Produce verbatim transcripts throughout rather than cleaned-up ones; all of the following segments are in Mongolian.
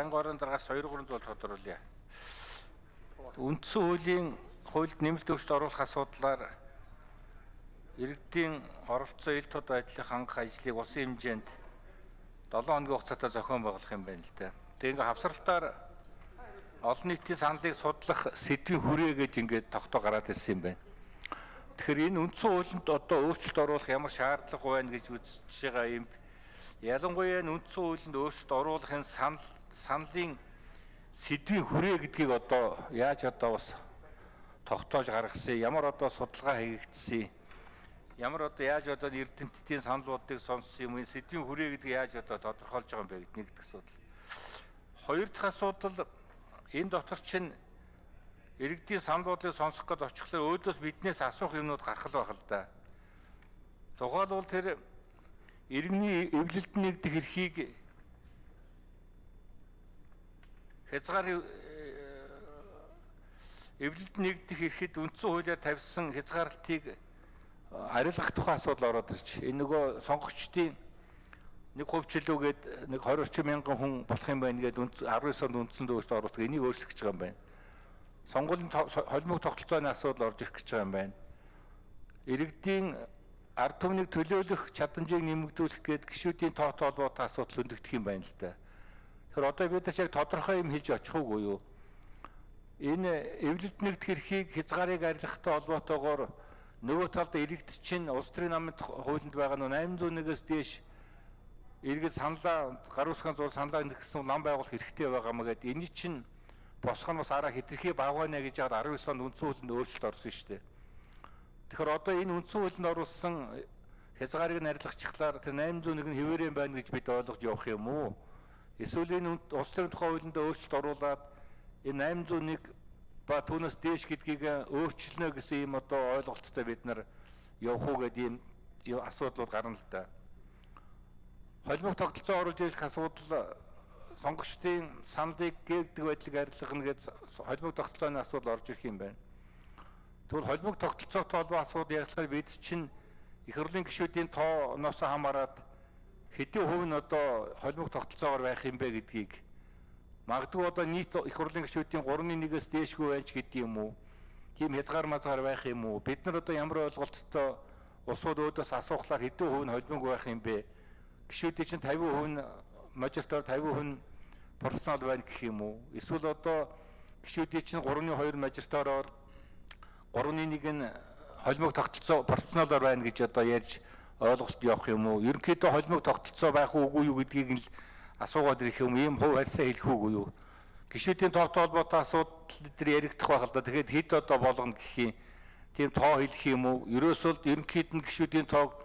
Байнгын орон дараагаас хоёр гурван зүйл тодруулъя. Үндсэн хуулийн хуульд нэмэлт өөрчлөлт оруулах асуудлаар иргэдийн оролцоо ил тод байдлыг хангах ажлыг улсын хэмжээнд долоон хоногийн хугацаатай зохион байгуулах юм байна л да. Тэгээ ингээ хавсралтаар олон нийтийн саналыг судлах сэдвийн хүрээ гэж ингээд тогтоо гараад ирсэн юм байна. Тэгэхээр энэ үндсэн хуулинд одоо өөрчлөлт оруулах ямар шаардлага байна гэж үзэж байгаа юм. Ялангуяа үндсэн хуулинд өөрчлөлт оруулахын санал саналын сэдвийн хүрээ гэдгийг одоо яаж одоо бас тогтоож гаргасан, ямар одоо судалгаа хийгдсэн, ямар одоо яаж одоо эрдэмтдийн саналуудыг сонссон юм, энэ сэдвийн хүрээ гэдгийг яаж одоо тодорхойлж байгаа юм бэ гэдэг нэгдүгээр асуудал. Хоёр дахь асуудал, энэ дотор чинь иргэдийн саналуудыг сонсох гээд очихлоор өөдөөс биднээс асуух юмнууд гарах л байх л да. Тухайлбал тэр иргэний эвлэлд нэгдэх эрхийг хязгаар эвлэлд нэгдэх эрхэд үндсэн хуулиар тавьсан хязгаарлалтыг арилгах тухай асуудал ороод ирж. Энэ нөгөө сонгогчдын нэг хувьчлуугээд нэг хоёр орчим мянган хүн болох юм байна гэдэг арван онд үндсэн өөрчлөлт оруулах энийг өөрчлөх гэж байгаа юм байна. Сонгуулийн холимог тогтолцооны асуудал орж ирэх гэж байгаа юм байна. Иргэдийн ард түмнийг төлөөлөх чадамжийг нэмэгдүүлэх гээд гишүүдийн тоотой холбоотой асуудал хөндөгдөх юм байна л да. Тэгэхээр одоо бид нар яг тодорхой юм хэлж очих уугүй юу? Энэ эвлэлд нэгдэх эрхийг хязгаарыг арилгахтай холбоотойгоор нөгөө талд иргэд чинь улс төрийн намын хуулинд байгаа нь восемь зуун нэгээс дээш иргэд саналаа гар усгийн зур саналаа нэгсэн нам байгуулах хэрэгтэй байгаа маа гэдэг. Энэ чинь босгох нь бас араа хэтэрхий багвана гэж яагаад арван онд үндсэн хуулинд өөрчлөлт орсон шүү дээ. Тэгэхээр одоо энэ үндсэн хуулинд оруулсан хязгаарыг нь арилгачихлаар тэр восемь зуун нэг нь хэвээрэн байна гэж бид ойлгож явах юм уу? Эсвэл энэ улс төрийн тухай хуулинд өөрчлөлт оруулаад энэ восемь зуун нэг ба түүнээс дээш гэдгийг өөрчилнө гэсэн юм одоо ойлголттой бид нар явах уу гэдэг ийм асуудлууд гарна л да. Холимог тогтолцоо оруулж ирэх асуудал сонгогчдын саналыг гээгдэг байдлыг арилгахна гэж холимог тогтолцооны асуудал орж ирэх юм байна. Тэгвэл холимог тогтолцоотой холбоо асуудал ярилцахаар бид чинь их хурлын гишүүдийн тооноос хамаарат хэдийн хувь нь одоо холимог тогтолцоогоор байх юм бэ гэдгийг магадгүй одоо нийт их хурлын гишүүдийн гурван нэгээс дээшгүй байж гэдэг юм уу? Тийм хязгаар мазгаар байх юм уу? Бид нар одоо ямар ойлголттой улсууд өөдөөс асуухлаар хэдэн хувь нь холимог байх юм бэ? Гишүүдийн чинь тавин хувь нь мажоритар тавин хувь нь пропорционал байна гэх юм уу? Эсвэл одоо гишүүдийн чинь гурван хоёр мажоритароор гурван нэг нь холимог тогтолцоо пропорционалаар байна гэж одоо ярьж ойлголт явах юм уу? Ерөнхийдөө холимог тогтолцоо байх уугүй юу гэдгийг л асуугаад ирэх юм, ийм хувь харьцаа хэлэх үүгүй юу? Гишүүдийн тоотой холбоотой асуудал дээр яригдах байх л да. Тэгэхээр хэд одоо болгоно гэх юм, тийм тоо хэлэх юм уу? Ерөөсөө ерөнхийд нь гишүүдийн тоог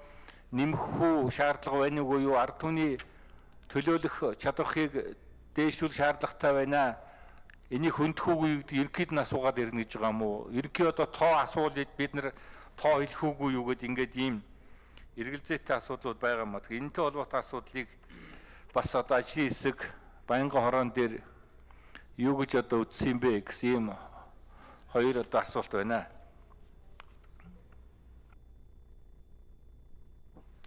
нэмэх үү шаардлага байна уу юу? Ард түмний төлөөлөх чадварыг дээшлүүлэх шаардлагатай байна. Энийг хөндөх үгүй гэдэг ерөнхийд нь асуугаад ирнэ гэж байгаа юм уу? Ерөнхий одоо тоо асуулыг бид нар тоо хэлэх үгүй юу гэдэг ингээд ийм эргэлзээтэй асуудлууд байгаа юм аа. Энэтэй холбоотой асуудлыг бас одоо ажлын хэсэг Байнгын хорон дээр юу гэж одоо үзсэн юм бэ гэсэн юм хоёр одоо асуулт байна.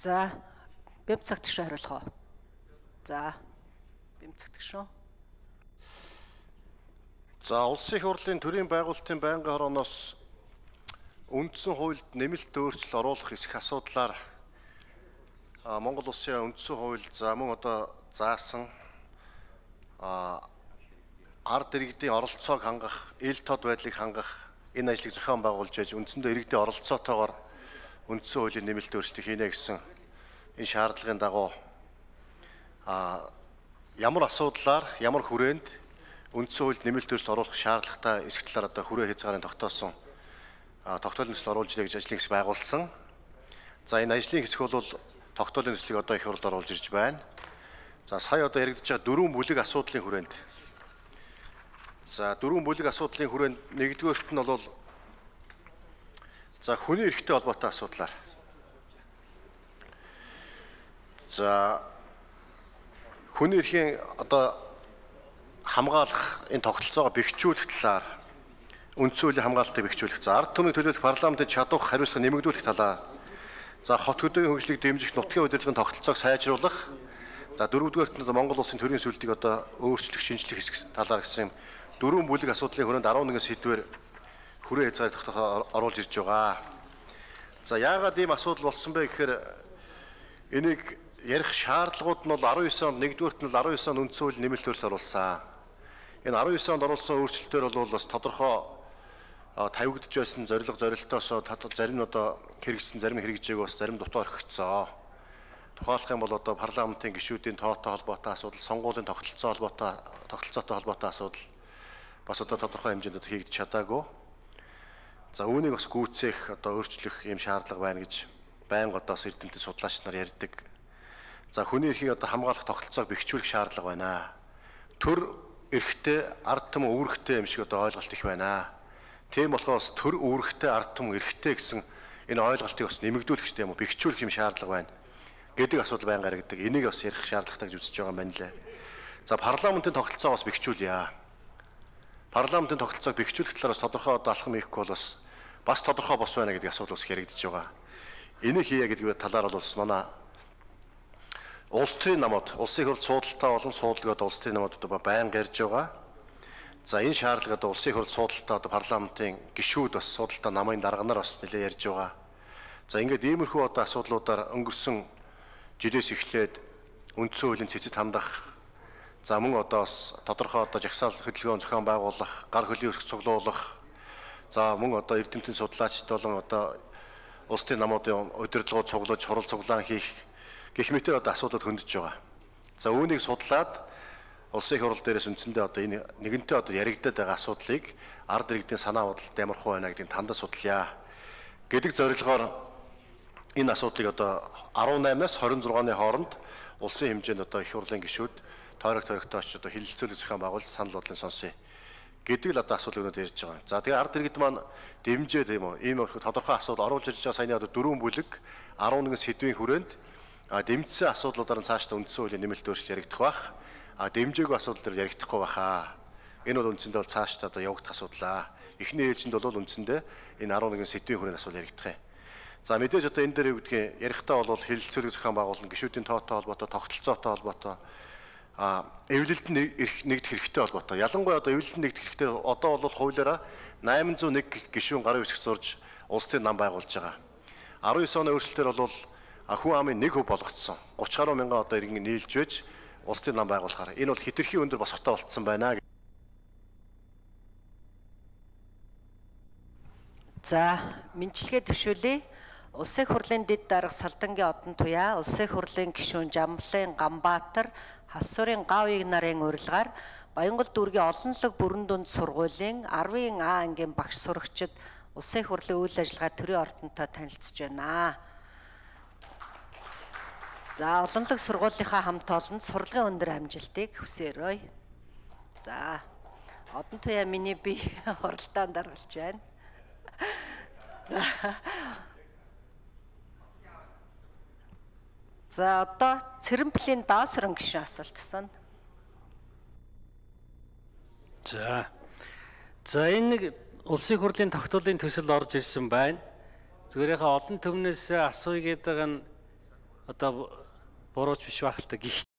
За, бэм цагтгш хариулах уу? За, бэм цагтгш шүү. За, улсын их хурлын төрийн байгуулалтын байнгын хорооноос үндсэн хуульд нэмэлт өөрчлөлт оруулах эсэх асуудлаар Монгол улсын үндсэн хууль за мөн одоо заасан ард иргэдийн оролцоог хангах, ил тод байдлыг хангах энэ ажлыг зохион байгуулж байж үндсэндээ иргэдийн оролцоотойгоор үндсэн хуулийн нэмэлт өөрчлөлт хийнэ гэсэн энэ шаардлагын дагуу ямар асуудлаар, ямар хүрээнд үндсэн хуульд нэмэлт өөрчлөлт оруулах шаардлагатай эсэх талаар одоо хүрээ хязгаарын тогтоосон тогтоолын төсөл оруулж ирэх гэж ажлын хэсэг байгуулсан. За энэ ажлын хэсэг бол тогтоолын төслийг одоо их хурлд оруулж ирж байна. За сая одоо яригдж байгаа дөрвөн бүлэг асуудлын хүрээнд. За дөрвөн бүлэг асуудлын хүрээнд нэгдүгээрт нь бол за хүний эрхтэй холбоотой асуудлаар. За хүний эрхийн одоо хамгаалах энэ тогтолцоогоо бэхжүүлэх талаар үндсэн хуулийн хамгаалтыг бэхжүүлэх. За ард түмний төлөөлөх парламентын чадвар хариуцлага нэмэгдүүлэх талаар. За хот хөдөөгийн хөгжлийг дэмжих нутгийн удирдлагын тогтолцоог сайжруулах. За дөрөвдүгээрт нь одоо Монгол улсын төрийн сүлдийг одоо өөрчлөх, шинжлэх хэсэг талаар гэсэн дөрвөн бүлэг асуудлын хүрээнд арван нэгэн сэдвээр хүрээ хязгаар тогтоохоо оруулж ирж байгаа. За яагаад ийм асуудал болсон бэ гэхээр энийг ярих шаардлагууд нь бол арван девять онд нэгдүгээрт нь арван девять онд үндсэн хуулийн нэмэлт өөрчлөлт оруулсан. Энэ арван девять онд оруулсан өөрчлөлтөөр бол бас тодорхой тавигдж байсан зорилго зорилтоос зарим нь одоо хэрэгжсэн, зарим хэрэгжээгүй бас зарим дутуу орхигдсон. Тухайлах юм бол одоо парламентын гишүүдийн тоотой холбоотой асуудал, сонгуулийн тогтолцоо холбоотой тогтолцоотой холбоотой асуудал бас одоо тодорхой хэмжээнд хийгдэж чадаагүй. За үүнийг бас гүйцээх одоо өөрчлөх юм шаардлага байна гэж байнга одоо эрдэмтэд судлаач нар ярьдаг. За хүний эрхийг одоо хамгаалах тогтолцоог бэхжүүлэх шаардлага байна. Төр эрхтэй, ард түмэн үүрэгтэй юм шиг одоо ойлголт их байна. Тийм болохоос төр үүрэгтэй, ард түмэн эрхтэй гэсэн энэ ойлголтыг бас нэмэгдүүлэх хэрэгтэй юм уу, бэхжүүлэх юм шаардлага байна гэдэг асуудал байнга гаргадаг. Энийг бас ярих шаардлагатай гэж үзэж байгаа юм байна лээ. За парламентын тогтолцоо бас бэхжүүлье. Парламентын тогтолцоог бэхжүүлэх талаар бас тодорхой одоо алхам хийхгүй бол бас бас тодорхой бос байна гэдэг асуудал бас яригдж байгаа. Энийг хийя гэдэг талаар бол манай улс төрийн намууд, улсын хурлд суудалтай болон суудлагууд улс төрийн намууд одоо байнга ярьж байгаа. За энэ шаардлагад улсын хурлд суудалтай одоо парламентын гишүүд бас суудалтай намын дарганаар бас нэлээд ярьж байгаа. За ингээд иймэрхүү одоо асуудлуудаар өнгөрсөн жилээс эхлээд үндсэн хуулийн цэцэд хандах, за мөн одоо бас тодорхой одоо жагсаал хөдөлгөөн зохион байгуулах, гар хөлийн өрсөх цуглуулах, за мөн одоо эрдэмтэн судлаачд болон одоо улс төрийн намуудын удирдлагууд цуглаж, хурал цуглаан хийх гэх мэтэр одоо асуудлууд хөндөж байгаа. За үүнийг судлаад улсын хурал дээрээс үндсэндээ одоо энэ нэгэнтээ одоо яригдаад байгаа асуудлыг ард иргэдийн санаа бодлолд ямархуу байна гэдгийг тандаж судлая гэдэг зорилгоор энэ асуудлыг одоо арван наймнаас хорин зургааны хооронд улсын хэмжээнд одоо их хурлын гишүүд тойрог тойрогтойч одоо хилэлцүүлэг зохион байгуулж санал бодлын сонсъё гэдэг л одоо асуудал өнөд ярьж байгаа. За тэгээ ард иргэд маань дэмжээ тийм үү ийм тодорхой асуудал оруулж ирж байгаа саяны одоо дөрвөн бүлэг арван нэгэн сэдвийн хүрээнд дэмжсэн асуудлуудаар нь цаашдаа үндсэн хуулийн нэмэлт өөрчлөлт яригдах бах. А дэмжээгүй асуудал дээр яригдахгүй баха. Энэ бол үндсэндээ бол цаашдаа одоо явагдах асуудал. Эхний ээлжинд бол үндсэндээ энэ арван нэгэн сэдвийн хүрээнд асуудал яригдах юм. За мэдээж одоо энэ дээр юу гэдгийг ярихдаа бол хилэлцүүлэг зохион байгуулалт, гишүүдийн тоотой холбоотой, тогтолцоотой холбоотой а эвлэлд нэгдэх хэрэгтэй холбоотой. Ялангуяа одоо эвлэлд нэгдэх хэрэгтэй одоо бол хуулиараа восемь зуун нэг гишүүн гарын үсэг зурж улс төрийн нам байгуулж байгаа. арван девять оны өөрчлөлтөөр бол хүн амын нэг хөв болгоцсон. гуравч гаруй мянган одоо иргэн нийлж байж улс төрийн нам байгуулахаар энэ бол хэтэрхий өндөр босготой болцсон байна. За мэдлэгээ төвшүүлье. Улсын хурлын дэд дарга Салдангийн Одон Туяа, Улсын хурлын гишүүн Жамблын Ганбаатар, Хассурын Гавыг нарын урилгаар Баянгол дүүргийн олонлог бүрэн дүнд сургуулийн арвын А ангийн багш сурагчид Улсын хурлын үйл ажиллагаа төрийн ордонтой танилцж байна. За олонлог сургуулийнхаа хамт олонд сурлагын өндөр амжилтыг хүсээрэй. За Одон Туяа миний би хуралдаанд даргалж байна. За За одоо Цэрэнплийн даасрын гишүүн асуулт асууна. За. За энэ нэг улсын хурлын тогтоолын төсөл орж ирсэн байна. Зүгээр яхаа олон түмнээс асууя гэдэг нь одоо бурууч биш байх л та.